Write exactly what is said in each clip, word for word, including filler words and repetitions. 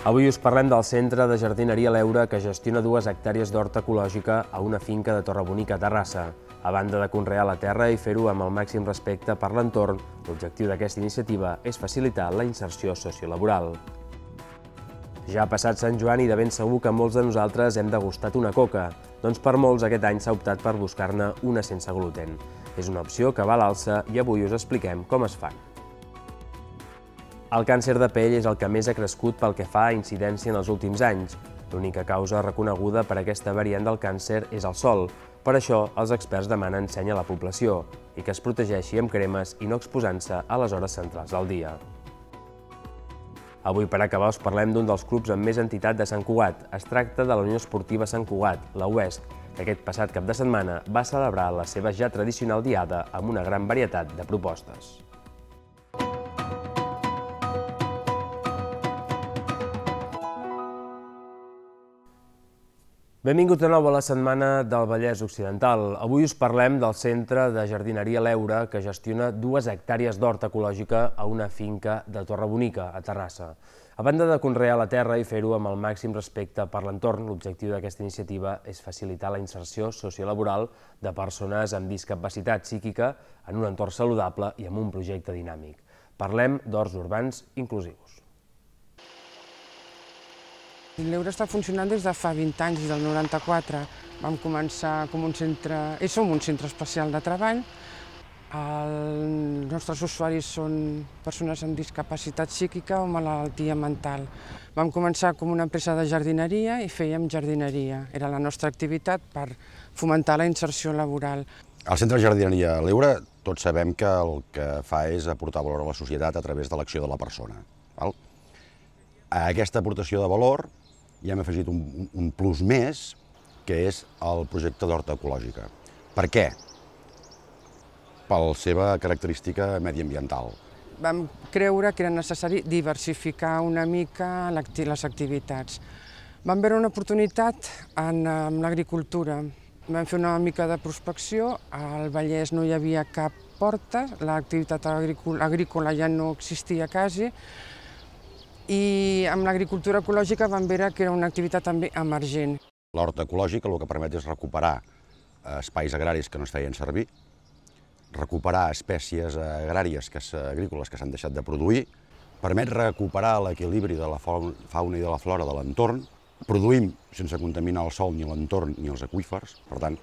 Avui us parlem del Centre de Jardineria L'Heura, que gestiona dues hectàrees d'horta ecològica a una finca de Torrebonica, a Terrassa. A banda de conrear la terra i fer-ho amb el màxim respecte per l'entorn, l'objectiu d'aquesta iniciativa és facilitar la inserció sociolaboral. Ja ha passat Sant Joan i de ben segur que molts de nosaltres hem degustat una coca, doncs per molts aquest any s'ha optat per buscar-ne una sense gluten. És una opció que va a l'alça i avui us expliquem com es fan. El càncer de pell és el que més ha crescut pel que fa a incidència en els últims anys. L'única causa reconeguda per aquesta variant del càncer és el sol. Per això, els experts demanen seny a la població i que es protegeixi amb cremes i no exposant-se a les hores centrals del dia. Avui, per acabar, us parlem d'un dels clubs amb més entitat de Sant Cugat. Es tracta de la Unió Esportiva Sant Cugat, la U E S C, que aquest passat cap de setmana va celebrar la seva ja tradicional diada amb una gran varietat de propostes. Benvinguts de nou a la setmana del Vallès Occidental. Avui us parlem del Centre de Jardineria L'Heura, que gestiona dues hectàrees d'horta ecològica a una finca de Torrebonica, a Terrassa. A banda de conrear la terra i fer-ho amb el màxim respecte per l'entorn, l'objectiu d'aquesta iniciativa és facilitar la inserció sociolaboral de persones amb discapacitat psíquica en un entorn saludable i amb un projecte dinàmic. Parlem d'horts urbans inclusius. L'Heura està funcionant des de fa vint anys, des del noranta-quatre. Vam començar com un centre, i som un centre especial de treball. Els nostres usuaris són persones amb discapacitat psíquica o malaltia mental. Vam començar com una empresa de jardineria i fèiem jardineria. Era la nostra activitat per fomentar la inserció laboral. El Centre de Jardineria L'Heura, tots sabem que el que fa és aportar valor a la societat a través de l'acció de la persona. A aquesta aportació de valor hi hem afegit un, un plus més, que és el projecte d'horta ecològica. Per què? Per la seva característica mediambiental. Vam creure que era necessari diversificar una mica les activitats. Vam veure una oportunitat en l'agricultura. Vam fer una mica de prospecció, al Vallès no hi havia cap porta, l'activitat agrícola ja no existia quasi, i amb l'agricultura ecològica vam veure que era una activitat també emergent. L'horta ecològica el que permet és recuperar espais agraris que no es feien servir, recuperar espècies agràries agrícoles que s'han deixat de produir, permet recuperar l'equilibri de la fauna i de la flora de l'entorn, produïm sense contaminar el sòl ni l'entorn ni els aqüífers, per tant,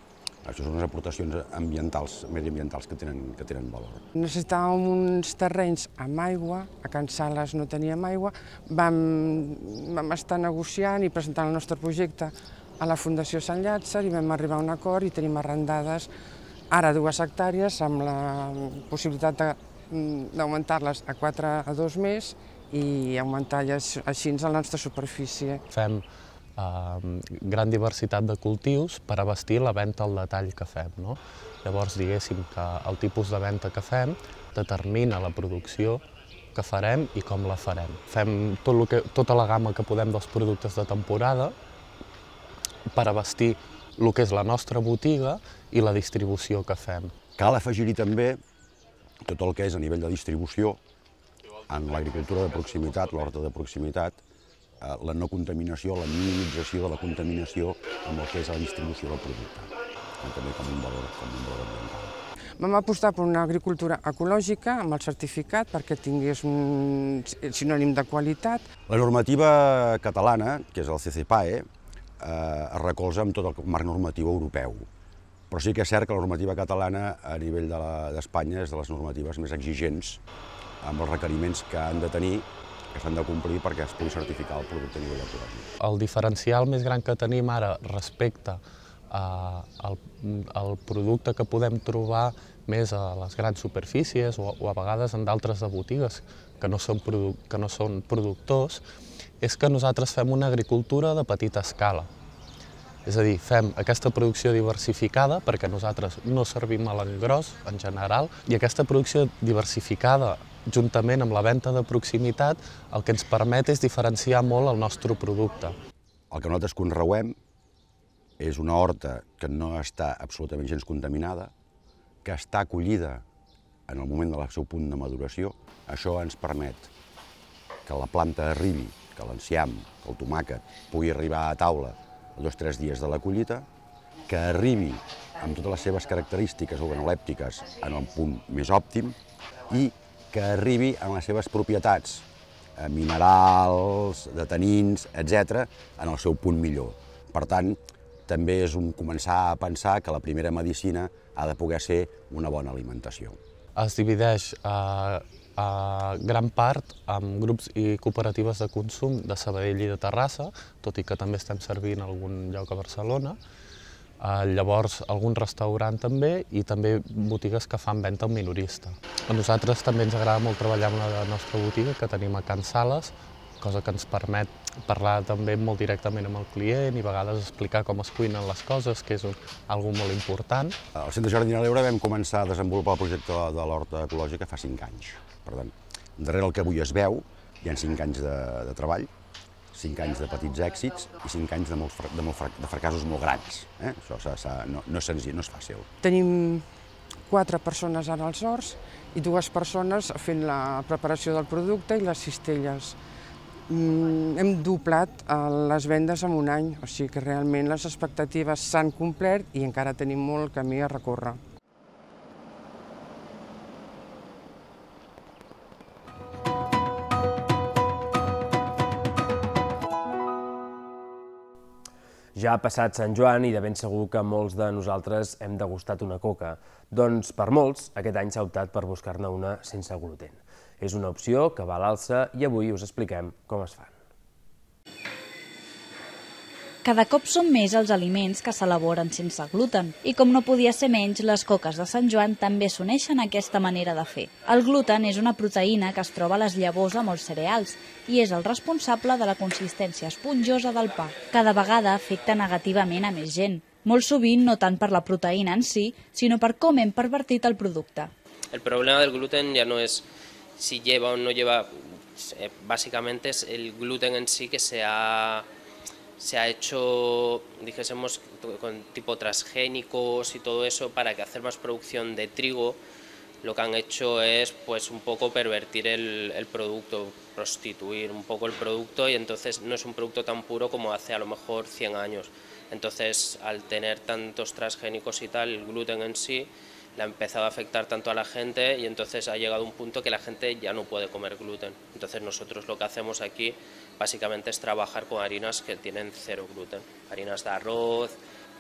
això són unes aportacions ambientals, mediambientals que tenen, que tenen valor. Necessitàvem uns terrenys amb aigua, a Can Sales no teníem aigua, vam, vam estar negociant i presentant el nostre projecte a la Fundació Sant Llàtzer i vam arribar a un acord i tenim arrendades ara dues hectàrees amb la possibilitat d'augmentar-les a quatre a dos més i augmentar així la nostra superfície. Fem gran diversitat de cultius per abastir la venda al detall que fem. Llavors, diguéssim que el tipus de venda que fem determina la producció que farem i com la farem. Fem tota la gamma que podem dels productes de temporada per abastir el que és la nostra botiga i la distribució que fem. Cal afegir-hi també tot el que és a nivell de distribució en l'agricultura de proximitat, l'horta de proximitat, la no contaminació, la minimització de la contaminació amb el que és la distribució del producte, també com un valor ambiental. Vam apostar per una agricultura ecològica amb el certificat perquè tingués un sinònim de qualitat. La normativa catalana, que és el C C P A E, es recolza amb tot el marc normatiu europeu, però sí que és cert que la normativa catalana a nivell d'Espanya és de les normatives més exigents amb els requeriments que han de tenir, que s'han de complir perquè es pugui certificar el producte a nivell ecològic. El diferencial més gran que tenim ara respecte al producte que podem trobar més a les grans superfícies o a vegades en d'altres de botigues que no són productors és que nosaltres fem una agricultura de petita escala. És a dir, fem aquesta producció diversificada perquè nosaltres no servim a l'engròs en general i aquesta producció diversificada juntament amb la venda de proximitat, el que ens permet és diferenciar molt el nostre producte. El que nosaltres conreuem és una horta que no està absolutament gens contaminada, que està acollida en el moment del seu punt de maduració. Això ens permet que la planta arribi que l'enciam, que el tomàquet, pugui arribar a taula a dos o tres dies de la collita, que arribi amb totes les seves característiques organolèptiques en un punt més òptim i que arribi amb les seves propietats minerals, de tanins, etcètera, en el seu punt millor. Per tant, també és un començar a pensar que la primera medicina ha de poder ser una bona alimentació. Es divideix a, a gran part amb grups i cooperatives de consum de Sabadell i de Terrassa, tot i que també estem servint en algun lloc a Barcelona. Llavors, algun restaurant també i també botigues que fan venda al minorista. A nosaltres també ens agrada molt treballar amb la nostra botiga que tenim a Can Sales, cosa que ens permet parlar també molt directament amb el client i a vegades explicar com es cuinen les coses, que és una cosa molt important. Al Centre Jardiner a l'Ebre vam començar a desenvolupar el projecte de l'horta ecològica fa cinc anys. Per tant, darrere el que avui es veu hi ha cinc anys de, de treball, cinc anys de petits èxits i cinc anys de, molts, de, molt, de fracassos molt grans. Eh? Això s ha, s ha, no, no és senzill, no és fàcil. Tenim quatre persones ara als horts i dues persones fent la preparació del producte i les cistelles. Mm, hem doblat les vendes en un any, o sigui que realment les expectatives s'han complert i encara tenim molt camí a recórrer. Ja ha passat Sant Joan i de ben segur que molts de nosaltres hem degustat una coca. Doncs per molts, aquest any s'ha optat per buscar-ne una sense gluten. És una opció que va a l'alça i avui us expliquem com es fan. Cada cop són més els aliments que s'elaboren sense gluten i com no podia ser menys, les coques de Sant Joan també s'uneixen a aquesta manera de fer. El gluten és una proteïna que es troba a les llavors de molts cereals i és el responsable de la consistència esponjosa del pa. Cada vegada afecta negativament a més gent, molt sovint no tant per la proteïna en si, sinó per com hem pervertit el producte. El problema del gluten ya no es si lleva o no lleva, básicamente es el gluten en sí que se ha... se ha hecho, dijésemos, con tipo transgénicos y todo eso para que hacer más producción de trigo. Lo que han hecho es pues un poco pervertir el, el producto, prostituir un poco el producto y entonces no es un producto tan puro como hace a lo mejor cien años. Entonces al tener tantos transgénicos y tal, el gluten en sí le ha empezado a afectar tanto a la gente y entonces ha llegado un punto que la gente ya no puede comer gluten. Entonces nosotros lo que hacemos aquí básicamente es trabajar con harinas que tienen cero gluten. Harinas de arroz,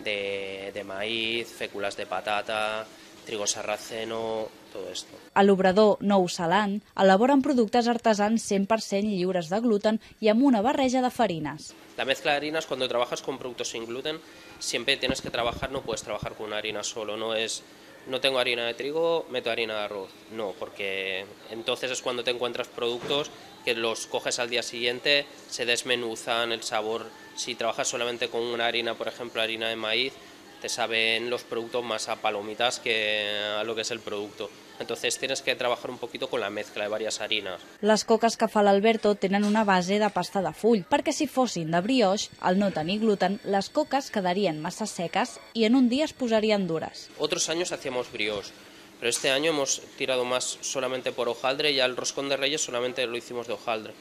de, de maíz, féculas de patata, trigo sarraceno, todo esto. A l'obrador Nou Salant elaboren productes artesans cent per cent lliures de gluten i amb una barreja de farines. La mezcla de harinas, cuando trabajas con productos sin gluten, siempre tienes que trabajar, no puedes trabajar con una harina solo, no es... No tengo harina de trigo, meto harina de arroz. No, porque entonces es cuando te encuentras productos que los coges al día siguiente, se desmenuzan el sabor. Si trabajas solamente con una harina, por ejemplo, harina de maíz, te saben los productos más a palomitas que a lo que es el producto. Entonces tienes que trabajar un poquito con la mezcla de varias harinas. Les coques que fa l'Alberto tenen una base de pasta de full, perquè si fossin de brioix, al no tenir gluten, les coques quedarien massa seques i en un dia es posarien dures. Otros años hacíamos brioche, pero este año hemos tirado más solamente por hojaldre y al roscón de Reyes solamente lo hicimos de hojaldre,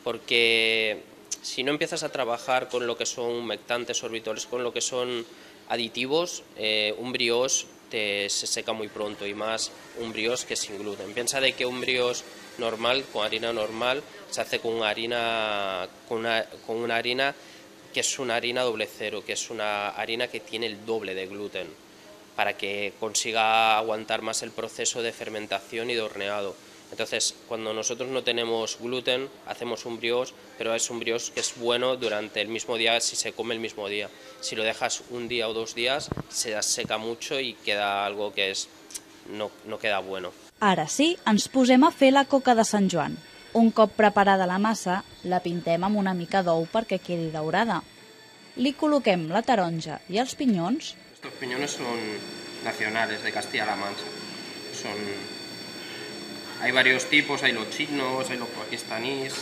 porque si no empiezas a trabajar con lo que son humectantes, sorbitoles, con lo que son aditivos, eh, un brioche te, se seca muy pronto y más un brioche que sin gluten. Piensa de que un brioche normal, con harina normal, se hace con una harina, con una, con una harina que es una harina doble cero, que es una harina que tiene el doble de gluten, para que consiga aguantar más el proceso de fermentación y de horneado. Entonces, cuando nosotros no tenemos gluten, hacemos un brioche, pero es un brioche que es bueno durante el mismo día si se come el mismo día. Si lo dejas un día o dos días, se seca mucho y queda algo que es, no, no queda bueno. Ara sí, ens posem a fer la coca de Sant Joan. Un cop preparada la massa, la pintem amb una mica d'ou perquè quedi daurada. Li col·loquem la taronja i els pinyons. Estos piñones son nacionales de Castilla-La Mancha. Son... Hay varios tipos, hay los chinos, hay los pakistaníes,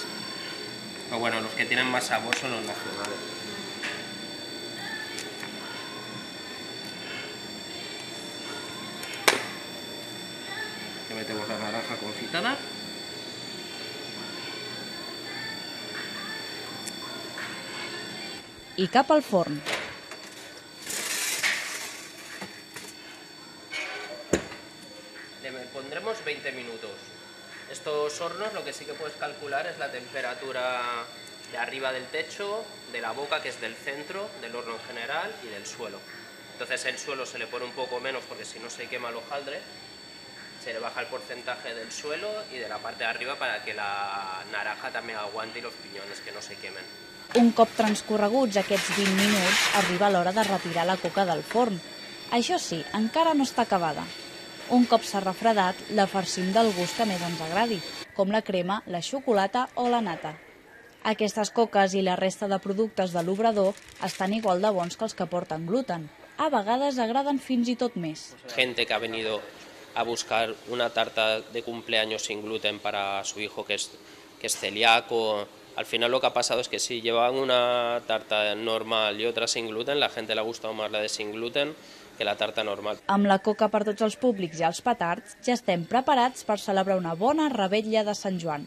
pero bueno, los que tienen más sabor son los nacionales. Le metemos la naranja confitada. i cap al forn. Le pondremos veinte minutos. Estos hornos lo que sí que puedes calcular es la temperatura de arriba del techo, de la boca, que es del centro, del horno en general, y del suelo. Entonces el suelo se le pone un poco menos porque si no se quema el hojaldre, se le baja el porcentaje del suelo y de la parte de arriba para que la naranja també aguanti los piñones, que no se quemen. Un cop transcorreguts aquests vint minuts, arriba l'hora de retirar la coca del forn. Això sí, encara no està acabada. Un cop s'ha refredat, la farcim del gust que més ens agradi, com la crema, la xocolata o la nata. Aquestes coques i la resta de productes de l'obrador estan igual de bons que els que porten gluten. A vegades agraden fins i tot més. Gente que ha venido a buscar una tarta de cumpleaños sin gluten para su hijo que es, que es celíaco. Al final lo que ha pasado es que si llevaban una tarta normal y otra sin gluten, la gente le ha gustado más la de sin gluten que la tarta normal. Amb la coca per tots els públics i els petards, ja estem preparats per celebrar una bona revetlla de Sant Joan.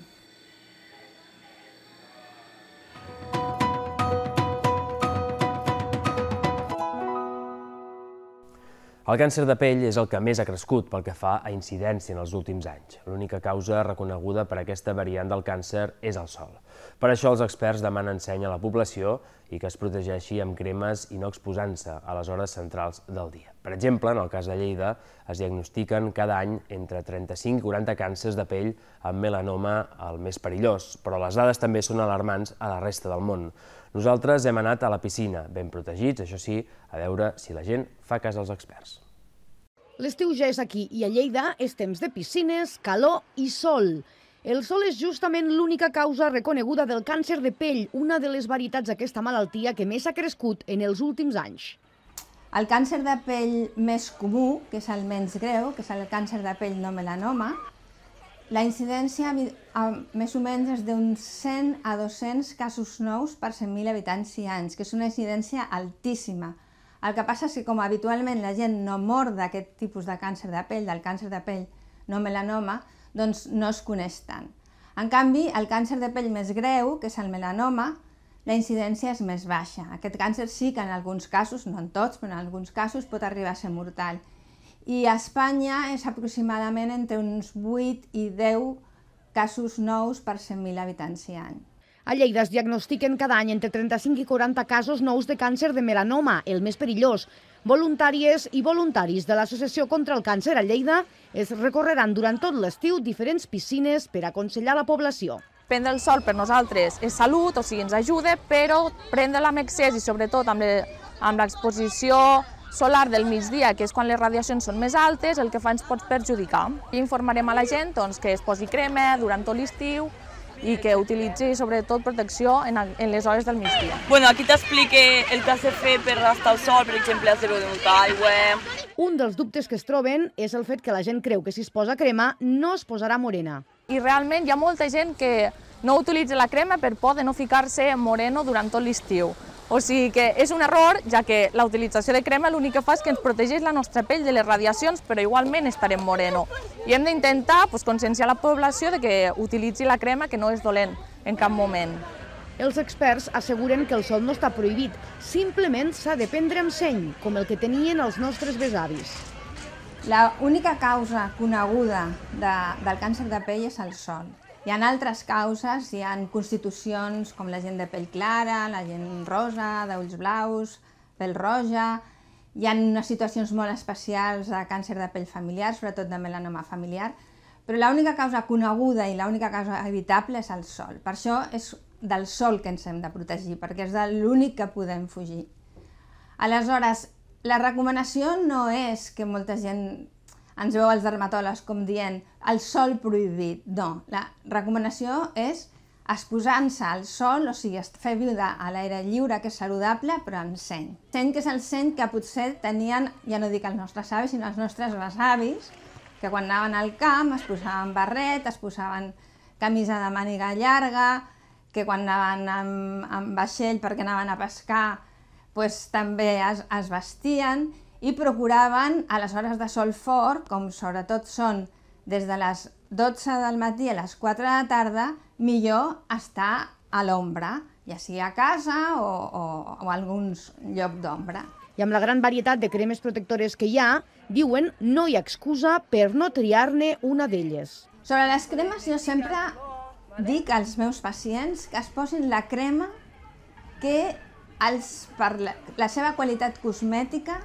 El càncer de pell és el que més ha crescut pel que fa a incidència en els últims anys. L'única causa reconeguda per aquesta variant del càncer és el sol. Per això els experts demanen seny a la població i que es protegeixi amb cremes i no exposant-se a les hores centrals del dia. Per exemple, en el cas de Lleida, es diagnostiquen cada any entre trenta-cinc i quaranta càncers de pell amb melanoma el més perillós, però les dades també són alarmants a la resta del món. Nosaltres hem anat a la piscina, ben protegits, això sí, a veure si la gent fa cas als experts. L'estiu ja és aquí i a Lleida és temps de piscines, calor i sol. El sol és justament l'única causa reconeguda del càncer de pell, una de les varietats d'aquesta malaltia que més ha crescut en els últims anys. El càncer de pell més comú, que és el menys greu, que és el càncer de pell no melanoma, la incidència més o menys és d'uns cent a dos-cents casos nous per cent mil habitants i anys, que és una incidència altíssima. El que passa és que com habitualment la gent no mor d'aquest tipus de càncer de pell, del càncer de pell no melanoma, doncs no es coneix tant. En canvi, el càncer de pell més greu, que és el melanoma, la incidència és més baixa. Aquest càncer sí que en alguns casos, no en tots, però en alguns casos pot arribar a ser mortal. I a Espanya és aproximadament entre uns vuit i deu casos nous per cent mil habitants i any. A Lleida es diagnostiquen cada any entre trenta-cinc i quaranta casos nous de càncer de melanoma, el més perillós. Voluntàries i voluntaris de l'Associació contra el Càncer a Lleida es recorreran durant tot l'estiu diferents piscines per aconsellar la població. Prendre el sol per nosaltres és salut, o sigui, ens ajuda, però prendre-la amb excés i sobretot amb l'exposició solar del migdia, que és quan les radiacions són més altes, el que fa ens pot perjudicar. I informarem a la gent doncs, que es posi crema durant tot l'estiu i que utilitzi sobretot protecció en, en les hores del migdia. Bueno, aquí t'explique el que has de fer per estar al sol, per exemple, has de beure molta aigua. Un dels dubtes que es troben és el fet que la gent creu que si es posa crema no es posarà morena. I realment hi ha molta gent que no utilitza la crema per por de no ficar-se moreno durant tot l'estiu. O sigui que és un error, ja que la utilització de crema l'únic que fa és que ens protegeix la nostra pell de les radiacions, però igualment estarem moreno. I hem d'intentar pues, conscienciar la població de que utilitzi la crema, que no és dolent en cap moment. Els experts asseguren que el sol no està prohibit, simplement s'ha de prendre amb seny, com el que tenien els nostres besavis. La única causa coneguda de, del càncer de pell és el sol. Hi ha altres causes, hi ha constitucions com la gent de pell clara, la gent rosa, d'ulls blaus, pell roja, hi ha unes situacions molt especials de càncer de pell familiar, sobretot de melanoma familiar, però l'única causa coneguda i l'única causa evitable és el sol. Per això és del sol que ens hem de protegir, perquè és l'únic que podem fugir. Aleshores, la recomanació no és que molta gent ens veu els dermatòlegs com dient el sol prohibit, no. La recomanació és exposant-se al sol, o sigui, fer viure a l'aire lliure, que és saludable, però amb seny. Seny que és el seny que potser tenien, ja no dic els nostres avis, sinó els nostres besavis, que quan anaven al camp es posaven barret, es posaven camisa de màniga llarga, que quan anaven amb, amb vaixell perquè anaven a pescar, pues, també es, es vestien, i procuraven a les hores de sol fort, com sobretot són des de les dotze del matí a les quatre de la tarda, millor estar a l'ombra, ja sigui a casa o, o, o a algun lloc d'ombra. I amb la gran varietat de cremes protectores que hi ha, diuen no hi ha excusa per no triar-ne una d'elles. Sobre les cremes jo sempre dic als meus pacients que es posin la crema que els, per la, la seva qualitat cosmètica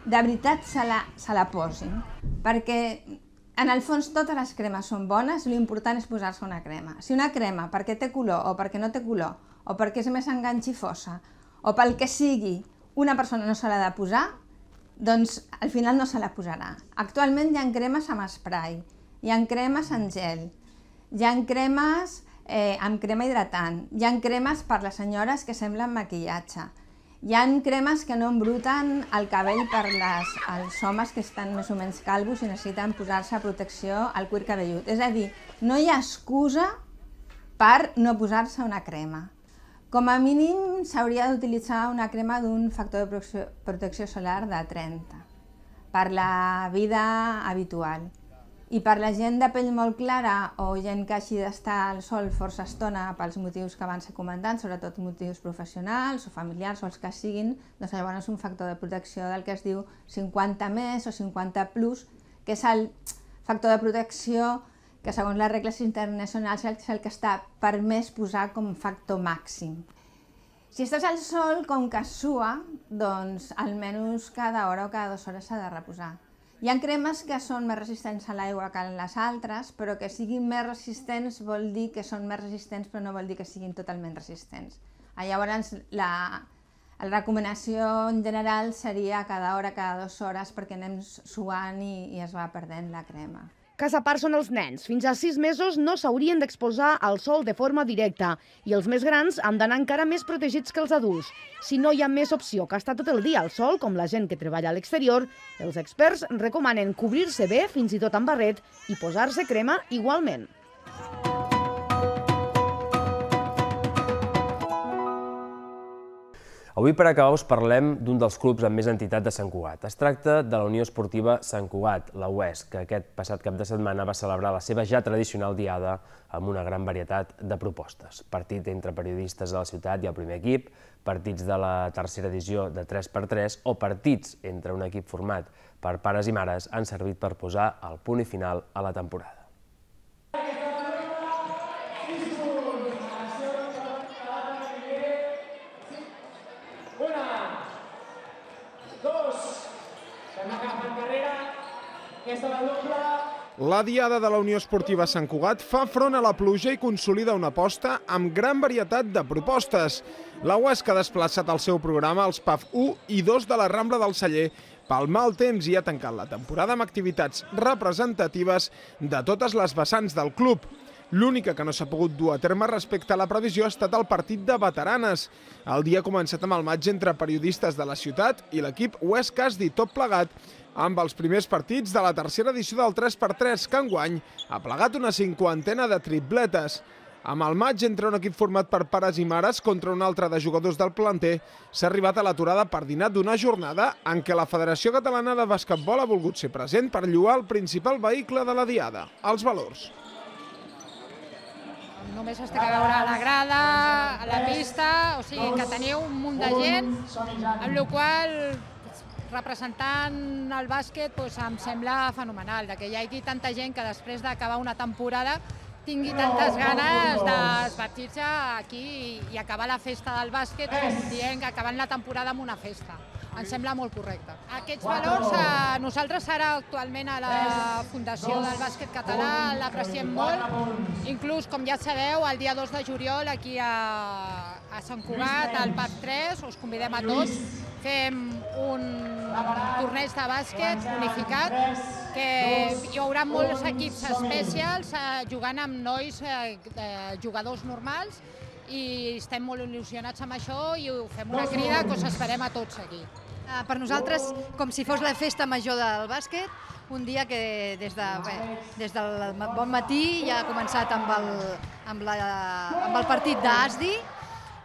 de veritat se la, se la posin. Perquè en el fons totes les cremes són bones, l'important és posar-se una crema. Si una crema perquè té color o perquè no té color, o perquè és més enganxifosa, o pel que sigui, una persona no se l'ha de posar, doncs al final no se la posarà. Actualment hi ha cremes amb spray, hi ha cremes en gel, hi ha cremes eh, amb crema hidratant, hi ha cremes per les senyores que semblen maquillatge, hi ha cremes que no embruten el cabell per les, els homes que estan més o menys calvos i necessiten posar-se protecció al cuir cabellut. És a dir, no hi ha excusa per no posar-se una crema. Com a mínim s'hauria d'utilitzar una crema d'un factor de protecció, protecció solar de trenta per la vida habitual. I per la gent de pell molt clara o gent que hagi d'estar al sol força estona pels motius que abans he comentat, sobretot motius professionals o familiars o els que siguin, doncs llavors és un factor de protecció del que es diu cinquanta més o cinquanta plus, que és el factor de protecció que segons les regles internacionals és el que està permès posar com factor màxim. Si estàs al sol, com que sua, doncs almenys cada hora o cada dues hores s'ha de reposar. Hi ha cremes que són més resistents a l'aigua que les altres, però que siguin més resistents vol dir que són més resistents, però no vol dir que siguin totalment resistents. Llavors, la, la recomanació en general seria cada hora, cada dues hores, perquè anem suant i, i es va perdent la crema. Cas a part són els nens. Fins a sis mesos no s'haurien d'exposar al sol de forma directa i els més grans han d'anar encara més protegits que els adults. Si no hi ha més opció que estar tot el dia al sol, com la gent que treballa a l'exterior, els experts recomanen cobrir-se bé, fins i tot amb barret, i posar-se crema igualment. Avui, per acabar, us parlem d'un dels clubs amb més entitat de Sant Cugat. Es tracta de la Unió Esportiva Sant Cugat, la U E S, que aquest passat cap de setmana va celebrar la seva ja tradicional diada amb una gran varietat de propostes. Partit entre periodistes de la ciutat i el primer equip, partits de la tercera edició de tres per tres o partits entre un equip format per pares i mares han servit per posar el punt i final a la temporada. La Diada de la Unió Esportiva Sant Cugat fa front a la pluja i consolida una aposta amb gran varietat de propostes. La U E S que ha desplaçat el seu programa als P A F u i dos de la Rambla del Celler pel mal temps i ha tancat la temporada amb activitats representatives de totes les vessants del club. L'única que no s'ha pogut dur a terme respecte a la previsió ha estat el partit de veteranes. El dia ha començat amb el maig entre periodistes de la ciutat i l'equip U E S Casdi, tot plegat amb els primers partits de la tercera edició del tres per tres, que enguany ha plegat una cinquantena de tripletes. Amb el maig entre un equip format per pares i mares contra un altre de jugadors del planter, s'ha arribat a l'aturada per dinar d'una jornada en què la Federació Catalana de Basquetbol ha volgut ser present per lloar el principal vehicle de la Diada, els valors. Només es té que veure a la grada, a la pista, o sigui que teniu un munt de gent, amb la qual representant el bàsquet em sembla fenomenal, que hi hagi tanta gent que després d'acabar una temporada tingui tantes ganes d'esbartir-se aquí i acabar la festa del bàsquet dient que acabant la temporada amb una festa. Em sembla molt correcte. Aquests valors nosaltres ara actualment a la Fundació del Bàsquet Català l'apreciem molt. Inclús, com ja sabeu, el dia dos de juliol aquí a Sant Cugat, al P A F tres, us convidem a tots. Fem un torneig de bàsquet unificat que hi haurà molts equips especials jugant amb nois jugadors normals i estem molt il·lusionats amb això i ho fem una crida que us esperem a tots aquí. Per nosaltres, com si fos la festa major del bàsquet, un dia que des del bon matí ja ha començat amb el partit d'Asdi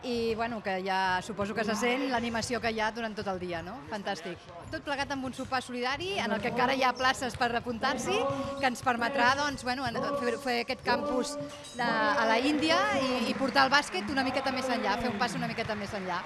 i bueno, que ja suposo que se sent l'animació que hi ha durant tot el dia, no? Fantàstic. Tot plegat amb un sopar solidari en el que encara hi ha places per apuntar-s'hi, que ens permetrà doncs, bueno, fer, fer aquest campus de, a la Índia i, i portar el bàsquet una miqueta més enllà, fer un pas una miqueta més enllà.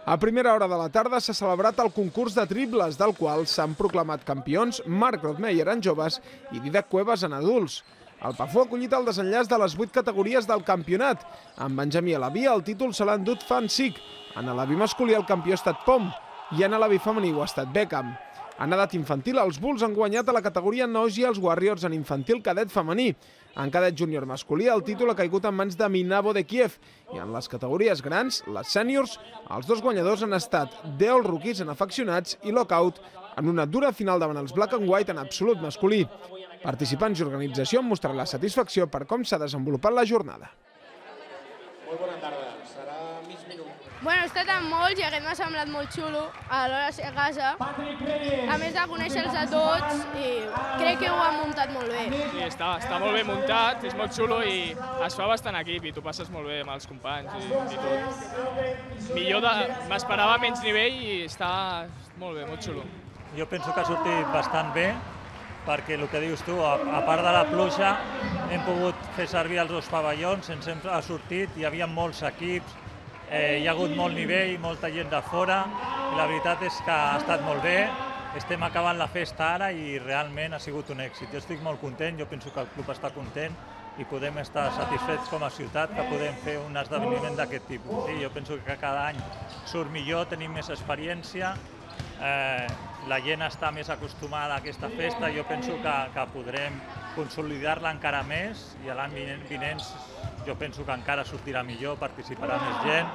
A primera hora de la tarda s'ha celebrat el concurs de triples, del qual s'han proclamat campions Marc Rothmeyer en joves i Didac Cuevas en adults. El Pafú ha acollit el desenllaç de les vuit categories del campionat. En Benjamí Alaví el títol se l'ha endut Fan Sic, en Alaví masculí el campió ha estat Pom i en Alaví femení ho ha estat Beckham. En edat infantil, els Bulls han guanyat a la categoria nois i els Warriors en infantil cadet femení. En cadet júnior masculí, el títol ha caigut en mans de Minavo de Kiev. I en les categories grans, les sèniors, els dos guanyadors han estat Deol Rookies en afeccionats i Lockout en una dura final davant els Black and White en absolut masculí. Participants i organització han mostrat la satisfacció per com s'ha desenvolupat la jornada. Molt bona tarda. Serà mig minut. Bueno, he estat amb molts i aquest m'ha semblat molt xulo a l'hora de ser a casa. A més de conèixer-los a tots i crec que ho han muntat molt bé. Sí, està, està molt bé muntat, és molt xulo i es fa bastant equip i tu passes molt bé amb els companys i, i tot. Millor de... m'esperava menys nivell i està molt bé, molt xulo. Jo penso que ha sortit bastant bé, perquè el que dius tu, a, a part de la pluja, hem pogut fer servir els dos pavellons, ens hem ha sortit, hi havia molts equips, eh, hi ha hagut molt nivell, molta gent de fora, i la veritat és que ha estat molt bé, estem acabant la festa ara i realment ha sigut un èxit. Jo estic molt content, jo penso que el club està content i podem estar satisfets com a ciutat que podem fer un esdeveniment d'aquest tipus. Sí, jo penso que cada any surt millor, tenim més experiència, eh, la gent està més acostumada a aquesta festa, jo penso que, que podrem consolidar-la encara més i l'any vinent jo penso que encara sortirà millor, participarà més gent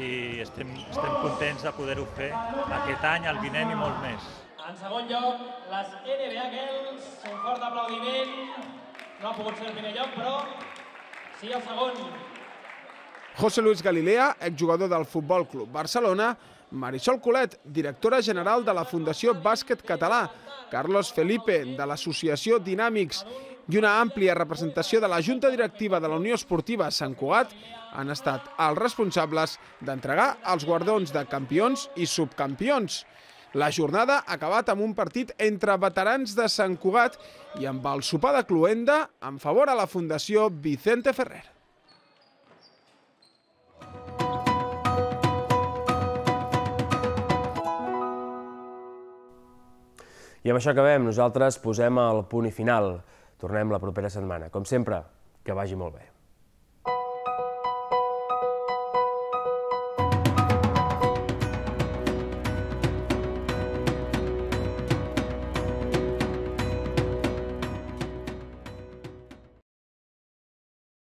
i estem, estem contents de poder-ho fer aquest any, el vinent i molt més. En segon lloc, les N B A Girls, un fort aplaudiment, no ha pogut ser el primer lloc, però sí el segon. José Luis Galilea, exjugador del Futbol Club Barcelona, Marisol Colet, directora general de la Fundació Bàsquet Català, Carlos Felipe, de l'Associació Dinàmics, i una àmplia representació de la Junta Directiva de la Unió Esportiva Sant Cugat han estat els responsables d'entregar els guardons de campions i subcampions. La jornada ha acabat amb un partit entre veterans de Sant Cugat i amb el sopar de cloenda en favor a la Fundació Vicente Ferrer. I amb això acabem. Nosaltres posem el punt i final. Tornem la propera setmana. Com sempre, que vagi molt bé.